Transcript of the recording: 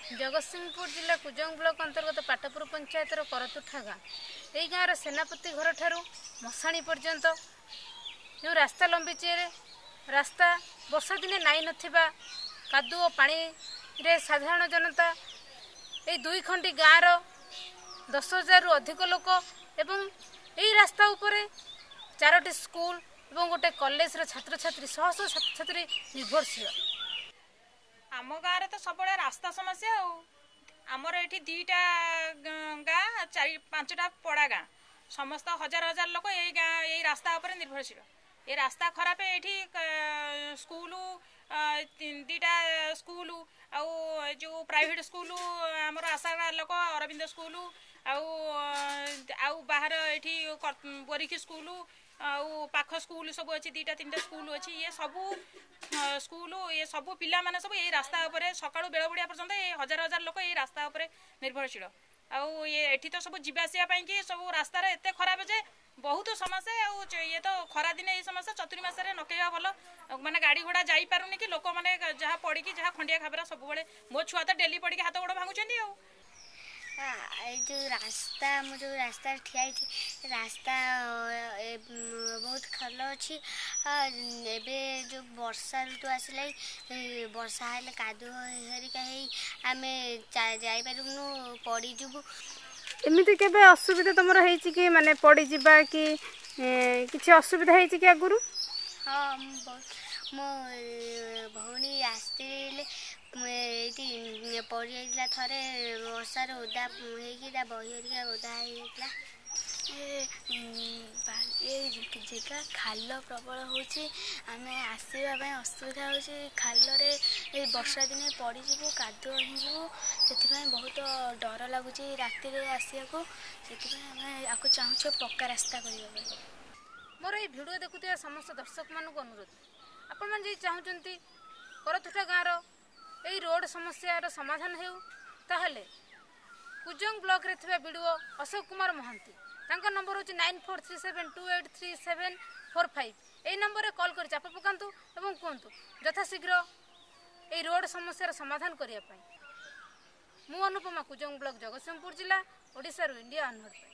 ଜଗତସିଂହପୁର ଜିଲ୍ଲା କୁଜଙ୍ଗ ବ୍ଲକ ଅନ୍ତର୍ଗତ ପାଟପୁର ପଞ୍ଚାୟତର କରତୁଠା ଗାଁ। ଏହି ଗାଁର ସେନାପତି ଘରଠାରୁ ମଶାଣି ପର୍ଯ୍ୟନ୍ତ ଯେଉଁ ରାସ୍ତା ଲମ୍ବିଛି, ରାସ୍ତା ବର୍ଷା ଦିନେ ନାଇଁ ନଥିବା କାଦୁଅ ପାଣିରେ ସାଧାରଣ ଜନତା, ଏଇ ଦୁଇ ଖଣ୍ଡି ଗାଁର 10,000ରୁ ଅଧିକ ଲୋକ ଏବଂ ଏଇ ରାସ୍ତା ଉପରେ 4ଟି ସ୍କୁଲ ଏବଂ ଗୋଟେ କଲେଜର ଛାତ୍ରଛାତ୍ରୀ, ଶହ ଶହ ଛାତ୍ରଛାତ୍ରୀ ନିର୍ଭରଶୀଳ। ଆମ ଗାଁରେ ତ ସବୁବେଳେ ରାସ୍ତା ସମସ୍ୟା। ଆଉ ଆମର ଏଠି 2ଟା ଗାଁ, 4 5ଟା ପଡ଼ା ଗାଁ, ସମସ୍ତ ହଜାର ହଜାର ଲୋକ ଏଇ ଗାଁ ଏଇ ରାସ୍ତା ଉପରେ ନିର୍ଭରଶୀଳ। ଏ ରାସ୍ତା ଖରାପ। ଏଇଠି ସ୍କୁଲ, 2ଟା ସ୍କୁଲ, ଆଉ ଯେଉଁ ପ୍ରାଇଭେଟ ସ୍କୁଲ ଆମର ଆଶା ଲୋକ ଅରବିନ୍ଦ ସ୍କୁଲ, ଆଉ ବାହାର ଏଇଠି ବୋରିଖି ସ୍କୁଲ, ଆଉ ପାଖ ସ୍କୁଲ ସବୁ ଅଛି, 2ଟା 3ଟା ସ୍କୁଲ ଅଛି। ଇଏ ସବୁ ସ୍କୁଲ, ଇଏ ସବୁ ପିଲାମାନେ ସବୁ ଏଇ ରାସ୍ତା ଉପରେ ସକାଳୁ ବେଳ ବୁଡ଼ିବା ପର୍ଯ୍ୟନ୍ତ ଏ ହଜାର ହଜାର ଲୋକ ଏଇ ରାସ୍ତା ଉପରେ ନିର୍ଭରଶୀଳ। ଆଉ ଇଏ ଏଠି ତ ସବୁ ଯିବା ଆସିବା ପାଇଁକି ସବୁ ରାସ୍ତାରେ ଏତେ ଖରାପ ଯେ ବହୁତ ସମସ୍ୟା। ଆଉ ଇଏ ତ ଖରାଦିନେ ଏଇ ସମସ୍ୟା, ଚତୁର୍ମାସରେ ନ କହିବା ଭଲ। ମାନେ ଗାଡ଼ି ଘୋଡ଼ା ଯାଇପାରୁନି କି ଲୋକମାନେ ଯାହା ପଡ଼ିକି ଯାହା ଖଣ୍ଡିଆ ଖାବରା ସବୁବେଳେ। ମୋ ଛୁଆ ତ ଡେଲି ପଡ଼ିକି ହାତ ଗୋଡ଼ ଭାଙ୍ଗୁଛନ୍ତି। ଆଉ ଏଇ ଯେଉଁ ରାସ୍ତା, ମୁଁ ଯେଉଁ ରାସ୍ତାରେ ଠିଆ ହେଇଛି, ରାସ୍ତା ବହୁତ ଖାଲ ଅଛି। ଏବେ ଯେଉଁ ବର୍ଷା ଋତୁ ଆସିଲା, ବର୍ଷା ହେଲେ କାଦୁଅ ହେରିକା ହେଇ ଆମେ ଯାଇପାରିବୁନୁ, ପଡ଼ିଯିବୁ। ଏମିତି କେବେ ଅସୁବିଧା ତମର ହେଇଛି କି, ମାନେ ପଡ଼ିଯିବା କି କିଛି ଅସୁବିଧା ହେଇଛି କି ଆଗରୁ? ହଁ, ମୋ ଭଉଣୀ ଆସିଥିଲେ, ଏଇଠି ପଡ଼ିଯାଇଥିଲା ଥରେ ବର୍ଷାରେ, ଓଦା ହେଇକି ତା ବହି ହେରିକା ଓଦା ହେଇଯାଇଥିଲା। ଏ ଜାଗା ଖାଲ ପ୍ରବଳ ହେଉଛି, ଆମେ ଆସିବା ପାଇଁ ଅସୁବିଧା ହେଉଛି। ଖାଲରେ ଏ ବର୍ଷା ଦିନେ ପଡ଼ିଯିବୁ, କାଦୁଅ ହେଇଯିବୁ। ସେଥିପାଇଁ ବହୁତ ଡର ଲାଗୁଛି ରାତିରେ ଆସିବାକୁ। ସେଥିପାଇଁ ଆମେ ଆକୁ ଚାହୁଁଛୁ ପକ୍କା ରାସ୍ତା କରିବା ପାଇଁ। ମୋର ଏଇ ଭିଡ଼ିଓ ଦେଖୁଥିବା ସମସ୍ତ ଦର୍ଶକମାନଙ୍କୁ ଅନୁରୋଧ, ଆପଣମାନେ ଯଦି ଚାହୁଁଛନ୍ତି କରତୁଠା ଗାଁର ଏଇ ରୋଡ଼ ସମସ୍ୟାର ସମାଧାନ ହେଉ, ତାହେଲେ କୁଜଙ୍ଗ ବ୍ଲକରେ ଥିବା ବିଡ଼ିଓ ଅଶୋକ କୁମାର ମହାନ୍ତି, ତାଙ୍କ ନମ୍ବର ହେଉଛି 9437283745, ଏଇ ନମ୍ବରରେ କଲ୍ କରି ଚାପ ପକାନ୍ତୁ ଏବଂ କୁହନ୍ତୁ ଯଥାଶୀଘ୍ର ଏଇ ରୋଡ଼ ସମସ୍ୟାର ସମାଧାନ କରିବା ପାଇଁ। ମୁଁ ଅନୁପମା, କୁଜଙ୍ଗ ବ୍ଲକ, ଜଗତସିଂହପୁର ଜିଲ୍ଲା, ଓଡ଼ିଶାରୁ ଇଣ୍ଡିଆ ଅନହର୍ଡ ପାଇଁ।